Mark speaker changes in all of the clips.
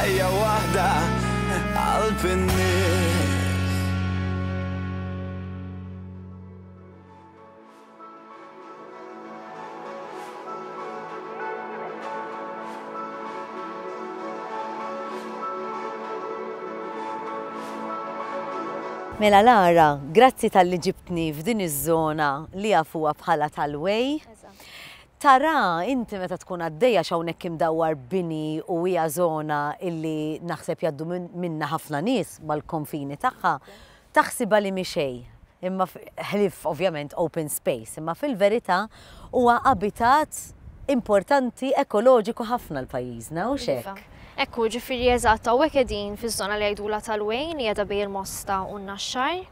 Speaker 1: Ħajja waħda qalb in-nies.
Speaker 2: Mela Lara, grazzi talli ġibtni f'din iż-żona li jafuha bħala tal-Way. Tara inti meta tkun għaddejja x'hawnhekk imdawwar bini u hija żona illi naħseb jgħaddu minnha ħafna nies mal-konfini tagħha, taħsibha li mhi xejn, imma ħlief ovvjament open space, imma fil-verità huwa abitat importanti ekoloġiku ħafna l-pajjiżna, hux hekk?
Speaker 3: Iva. Hekk hu, ġifieri eżatt hawnhekk qegħdin fiż-żona li jgħidulha tal-Wejn li qiegħda bejn il-Mosta u n-Naxxar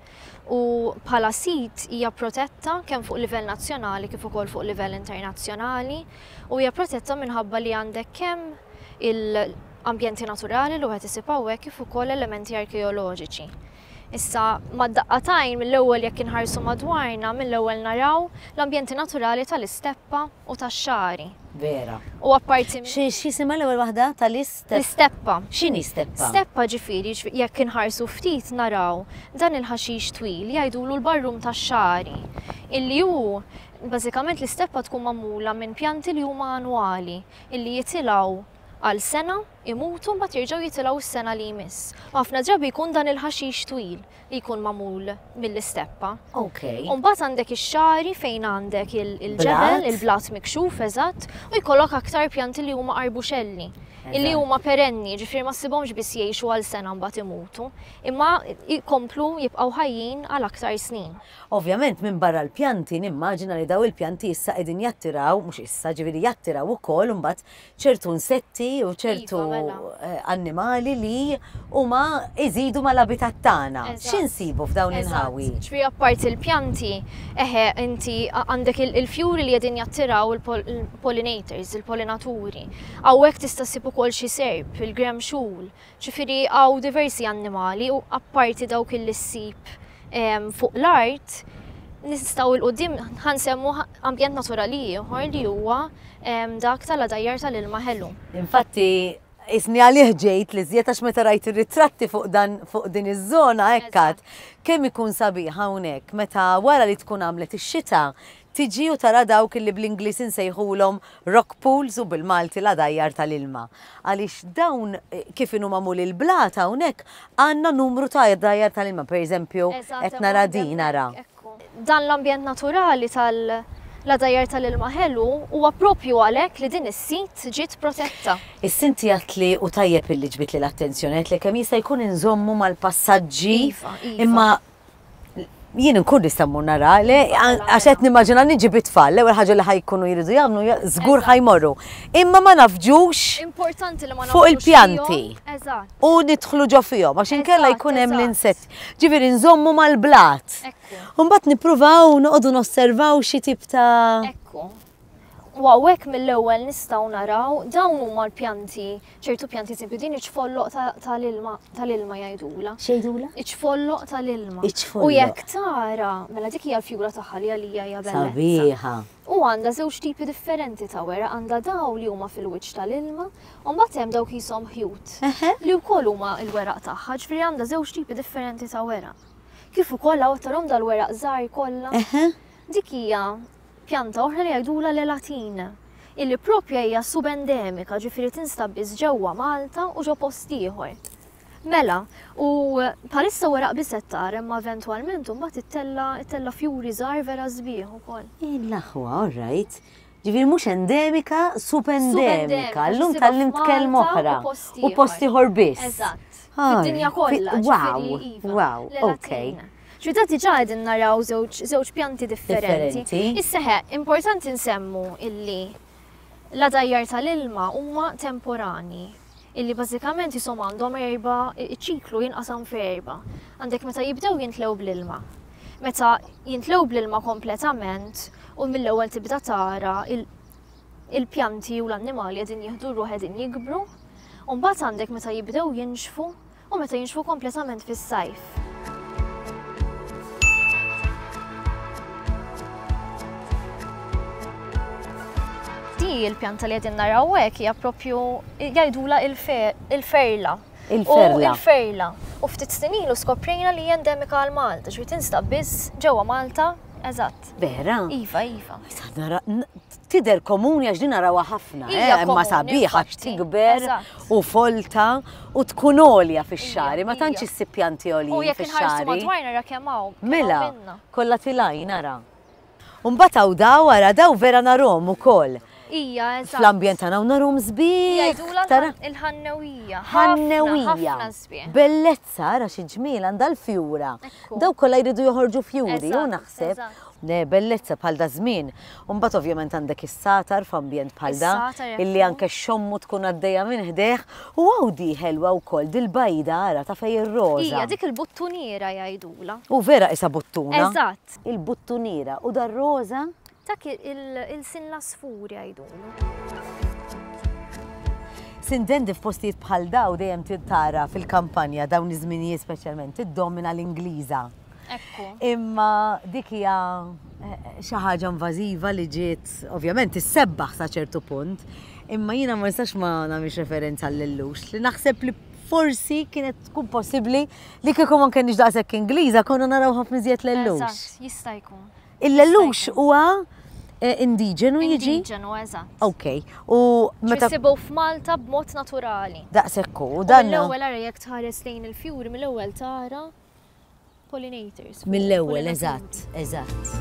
Speaker 3: u bħala sit hija protetta kemm fuq livell nazzjonali kif ukoll fuq livell internazzjonali u hija protetta minħabba li għandek kemm il-ambjenti naturali li wieħed isib hawnhekk kif ukoll elementi arkeoloġiċi. Issa, mad-daqqa t'għajn, mill-ewwel jekk inħarsu madwarna, mill-ewwel naraw l-ambjenti naturali tal-isteppa u tax-xagħri.
Speaker 2: Vera.
Speaker 3: U apparti minn.
Speaker 2: X'jisimha l-ewwel waħda? Tal-isteppa?
Speaker 3: L-isteppa.
Speaker 2: X'inhi steppa?
Speaker 3: Steppa ġifieri, jekk inħarsu ftit naraw dan il-ħaxix twil jgħidulu l-barrum tax-xagħri, illi hu bażikament l-isteppa tkun magħmula minn pjanti li huma annwali, illi jitilgħu għal sena, imutu mbagħad jerġgħu jitilgħu s-sena li jmiss. U ħafna drabi jkun dan il-ħaxix twil li jkun magħmul mill-isteppa.
Speaker 2: Okay.
Speaker 3: U mbagħad għandek ix-xagħri fejn għandek il-ġebel, il-blat mikxuf eżatt, u jkollok aktar pjanti li huma arbuxelli illi huma perenni, ġifieri ma ssibhomx biss jgħixu għal sena mbagħad imutu, imma jkomplu jibqgħu ħajjin għal aktar snin.
Speaker 2: Ovvjament minbarra l-pjanti nimmaġina li daw il-pjanti issa qegħdin jattiraw, mhux issa, ġifieri jattiraw ukoll imbagħad ċertu insetti u ċertu
Speaker 3: Iva, mela.
Speaker 2: eh, annimali li huma iżidu mal-abitat tagħna.
Speaker 3: Eżatt.
Speaker 2: X'insibu f'dawn l-inħawi?
Speaker 3: Ġifieri apparti l-pjanti, eħe, inti għandek il-fjuri li qegħdin jattiraw il-pollinators, il-pollinaturi. Hawnhekk tista' ssib ukoll xi serp, il-gremxul, Ġifieri hawn diversi annimali u apparti dawk illi ssib fuq l-art, nistgħu 'l quddiem ħa nsemmu ambjent naturali ieħor li huwa dak tal-għadajjar tal-ilma ħelu.
Speaker 2: Infatti isni għalih ġejt li żjed għax meta rajt ir-ritratti fuq dan fuq din iż-żona hekk għad kemm ikun sabiħ hawnhekk meta wara li tkun għamlet ix-xita tiġi u tara dawk illi bl-Ingliż insejħulhom rock pools u bil-Malti l-għadajjar tal-ilma. Għaliex dawn kif inhu magħmul il-blat hawnhekk għandna numru ta' għadajjar tal-ilma, pereżempju qed nara din ara.
Speaker 3: Dan l-ambjent naturali tal-għadajjar tal-ilma ħelu huwa proprju għalhekk li din is-sit ġiet protetta.
Speaker 2: Issa inti għedtli u tajjeb illi ġbidtli l-attenzjoni għedtli kemm jista' jkun inżommu mal-passaġġi imma jien inkun nista' mmur nara, le, għax qed nimmaġina niġi bit-tfal, l-ewwel ħaġa li ħajkunu jridu jagħmlu żgur ħajmorru. Imma ma nafġux
Speaker 3: Importanti li ma
Speaker 2: fuq il-pjanti.
Speaker 3: Eżatt.
Speaker 2: U nidħlu ġo fihom għax inkella jkun hemm l-insetti. Ġifieri nżommu mal-blat. U mbagħad nippruvaw noqogħdu nosservaw xi tip ta'
Speaker 3: Ekku. U hawnhekk mill-ewwel nistgħu naraw dawn huma l-pjanti ċertu pjanti eżempju din iċ-ċfolloq tal-ilma tal-ilma jgħidulha.
Speaker 2: X'jgħidulha?
Speaker 3: Iċ-ċfolloq tal-ilma.
Speaker 2: Iċ-ċfolloq.
Speaker 3: U jekk tara, mela dik hija l-fjura tagħha li għalija hija bellezza.
Speaker 2: Sabiħa.
Speaker 3: U għandha żewġ tipi differenti ta' weraq, għandha daw li huma fil-wiċċ tal-ilma, u mbagħad hemm dawk qishom ħjut li wkoll huma l-weraq tagħha, ġifieri għandha żewġ tipi differenti ta' weraq. Kif ukoll hawn tarhom dal-weraq żgħar kollha. Dik hija Pjanta oħra li jgħidulha l-elatin, illi proprja hija subendemika, ġifieri tinstab biss ġewwa Malta u ġo post ieħor. Mela, u bħalissa weraq biss qed tara imma eventwalment imbagħad ittella' ittella' fjuri żgħar vera sbieħ ukoll.
Speaker 2: L-aħwa, all right. Ġifieri mhux endemika, subendemika. Llum
Speaker 3: Issibha
Speaker 2: tgħallimt kelma
Speaker 3: f'Malta
Speaker 2: oħra.
Speaker 3: u post
Speaker 2: U post ieħor biss.
Speaker 3: Eżatt. Fid-dinja kollha,
Speaker 2: Wow,
Speaker 3: ġifieri iva.
Speaker 2: wow, okay.
Speaker 3: L-elatin. Ġifieri da diġà qegħdin naraw żewġ żewġ pjanti differenti.
Speaker 2: Differenti.
Speaker 3: Issa eħe, importanti nsemmu illi l-għadajjar tal-ilma huma temporani, illi bażikament qishom għandhom erba' iċ-ċiklu jinqasam f'erba'. Għandek meta jibdew jintlew bl-ilma. Meta jintlew bl-ilma kompletament u mill-ewwel tibda tara il-pjanti u l-annimali qegħdin jieħdu r-ruħ qegħdin jikbru. U mbagħad għandek meta jibdew jinxfu u meta jinxfu kompletament fis-sajf. Din. Di il-pjanta li qegħdin naraw hekk hija propju jgħidula il-ferla.
Speaker 2: Il-ferla.
Speaker 3: Il-ferla. U ftit snin ilu skoprejna li hija endemika għal Malta, ġifieri tinstab biss ġewwa Malta, eżatt.
Speaker 2: Vera?
Speaker 3: Iva, iva.
Speaker 2: Tidher komuni għax din narawha ħafna, eh, imma sabiħa għax tikber u folta u tkun għolja fix-xagħri, ma tantx issib pjanti għoljin fix-xagħri.
Speaker 3: U jekk madwar nara kemm hawn.
Speaker 2: Mela, kollha tilgħin ara. U mbagħad hawn daw ara daw vera narhom ukoll.
Speaker 3: Ija, eżatt.
Speaker 2: Fl-ambjent tagħna u narhom sbieħ.
Speaker 3: Jgħidulha il-ħannewija.
Speaker 2: Ħannewija. Bellezza, ara xi ġmiel għandha l-fjura. Daw kollha jridu joħorġu fjuri, u naħseb. Le, bellezza bħal da żmien. U mbagħad ovvjament għandek is-satar f'ambjent bħal da, illi anke xommu tkun għaddejja minn ħdejh. U hawn di ħelwa wkoll, dil-bajda ara ta' fejn ir-roża.
Speaker 3: Hija dik il-buttuniera jgħidulha.
Speaker 2: U vera qisha buttuna.
Speaker 3: Eżatt.
Speaker 2: Il-buttuniera u dar-roża?
Speaker 3: Dak il-sin l-għasfur jgħidulu.
Speaker 2: Sintendi f'postijiet bħal daw dejjem tara fil-kampanja dawn iż-żminijiet speċjalment tiddomina l-Ingliża.
Speaker 3: Ekku.
Speaker 2: Imma dik hija eh, xi ħaġa invażiva li ġiet ovvjament issebbaħ sa ċertu punt, imma jiena ma nistax ma nagħmilx referenza għall-illux li naħseb li forsi kienet tkun possibbli li kieku ma kenniex daqshekk Ingliża konna naraw ħafna iżjed l-ellux.
Speaker 3: Eżatt, jista' jkun.
Speaker 2: Il-lellux huwa eh, indiġenu jiġi?
Speaker 3: Indiġenu, eżatt.
Speaker 2: Ok. U
Speaker 3: meta. Sibu f'Malta b'mod naturali.
Speaker 2: Daqshekk hu, dan.
Speaker 3: Mill-ewwel ara jekk tħares lejn il-fjuri mill-ewwel tara pollinators.
Speaker 2: Mill-ewwel, eżatt, eżatt.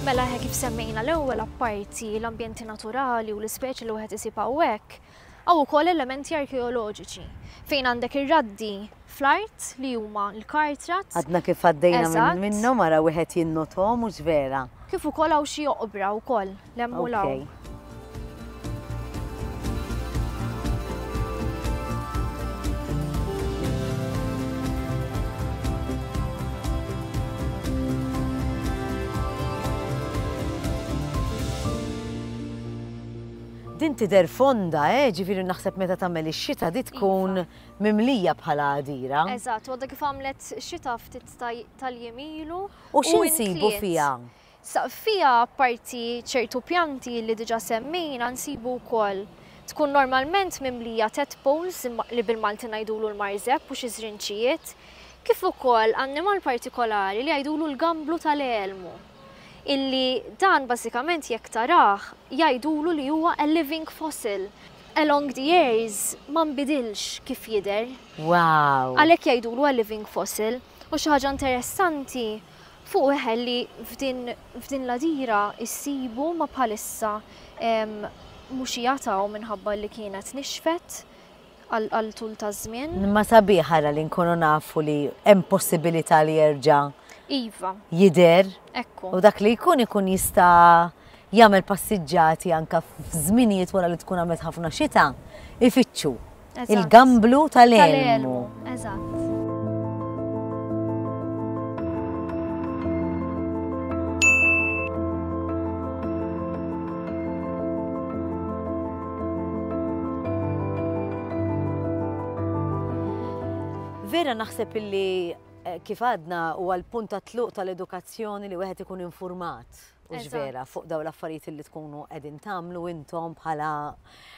Speaker 3: Mela kif semmejna l-ewwel apparti l-ambjenti naturali u l-ispeċi li wieħed isib hawnhekk, Hawn ukoll elementi arkeoloġiċi, fejn għandek ir-raddi fl-art li huma l-kartrat.
Speaker 2: Għadna kif għaddejna minnhom ara wieħed jinnothom hux vera.
Speaker 3: Kif ukoll hawn xi oqbra wkoll l-hemm u l-hawn.
Speaker 2: Din tidher fonda, eh, ġifieri naħseb meta tagħmel ix-xita di tkun iva. mimlija bħala għadira.
Speaker 3: Eżatt, għadha kif għamlet xita ftit tal-jiem ilu.
Speaker 2: U x'insibu fiha?
Speaker 3: Fiha apparti ċertu pjanti li diġà semmejna nsibu wkoll tkun normalment mimlija tadpoles li bil-Malti ngħidulu l-marżeb u xi żrinċijiet, kif ukoll annimal partikolari li jgħidulu l-gamblu tal-elmu. Illi dan bażikament jekk tarah jgħidulu li huwa a living fossil. Along the years ma nbidilx kif jidher.
Speaker 2: Wow!
Speaker 3: Għalhekk jgħidulu a living fossil. U xi ħaġa interessanti fuq eħe li f'din f'din l-għadira issibu ma bħalissa mhux qiegħed hawn minħabba li kienet nixfet. għal tul ta' żmien.
Speaker 2: Imma sabiħ ara li nkunu nafu li hemm possibilità li jerġa'
Speaker 3: Iva.
Speaker 2: jidher.
Speaker 3: Ekku.
Speaker 2: U dak li jkun ikun jista' jagħmel passiġġati anke f'żminijiet wara li tkun għamlet ħafna xita, ifittxu il-gamblu tal-elmu.
Speaker 3: Eżatt.
Speaker 2: Vera naħseb illi eh, kif għadna u għal-punt ta' tluq tal-edukazzjoni li wieħed ikun informat u vera fuq daw l-affarijiet li tkunu qegħdin tagħmlu intom bħala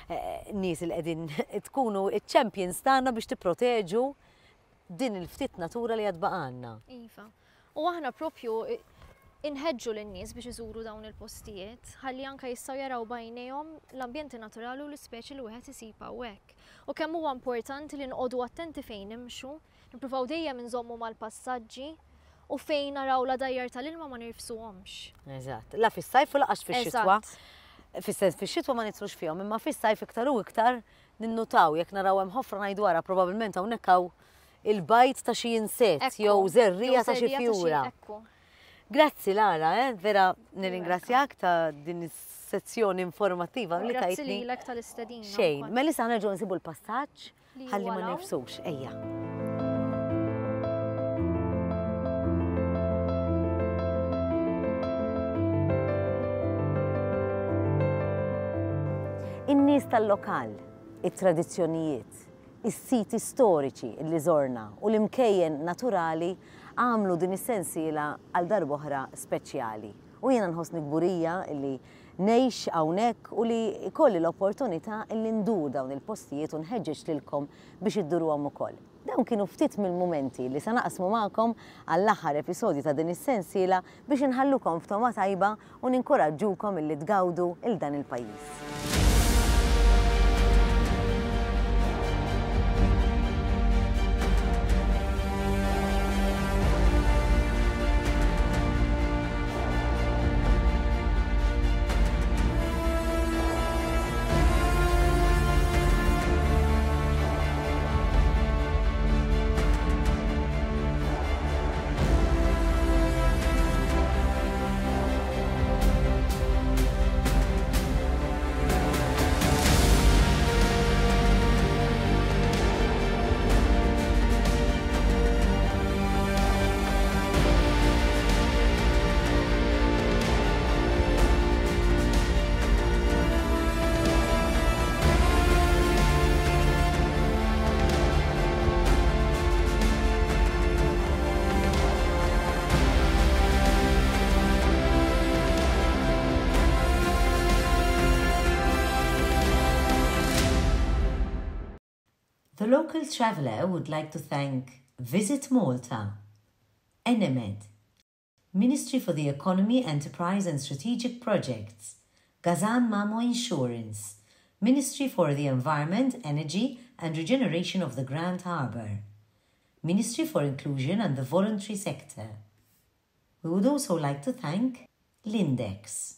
Speaker 2: eh, nies li qegħdin tkunu iċ-champions tagħna biex tipproteġu din il-ftit natura li għad baqgħalna.
Speaker 3: Iva. U aħna propju inħeġġu lin-nies biex iżuru dawn il-postijiet ħalli anke jistgħu jaraw b'għajnejhom l-ambjenti naturali u l-ispeċi li wieħed isib hawnhekk. U kemm huwa importanti li noqogħdu attenti fejn nimxu, nippruvaw dejjem inżommu mal-passaġġi u fejn naraw l-għadajjar tal-ilma ma nirfsuhomx.
Speaker 2: Eżatt. La fis-sajf u lanqas fix-xitwa. Fis-sens fix-xitwa ma nidħlux fihom, imma fis-sajf iktar u iktar Ninnutaw jekk naraw hemm ħofra ngħidu ara probabbilment hawnhekk hawn il-bajd ta' xi insett jew żerriegħa ta' xi fjura. Grazzi Lara, eh? vera nirringrazzjak ta' din is-sezzjoni informattiva li tajtni.
Speaker 3: Grazzi lilek tal-istedina.
Speaker 2: Xejn, mela issa nerġgħu nsibu l-passaġġ ħalli ma nifsux, ejja. In-nies tal-lokal, it-tradizzjonijiet, Is-siti storiċi li żorna u l-imkejjen naturali għamlu din is-sensiela għal darb'oħra speċjali. U jiena nħossni kburija li ngħix hawnhekk u li jkolli l-opportunità li ndur dawn il-postijiet u nħeġġeġ lilkom biex idduruhom ukoll. Dawn kienu ftit mill-mumenti li se naqsmu magħkom għall-aħħar episodju ta' din is-sensiela biex inħallukom f'togħma tajba u ninkuraġġukom illi tgawdu 'l dan il-pajjiż. The local traveller would like to thank Visit Malta, Enemed, Ministry for the Economy, Enterprise and Strategic Projects, Gazan Mamo Insurance, Ministry for the Environment, Energy and Regeneration of the Grand Harbour, Ministry for Inclusion and the Voluntary Sector. We would also like to thank Lindex.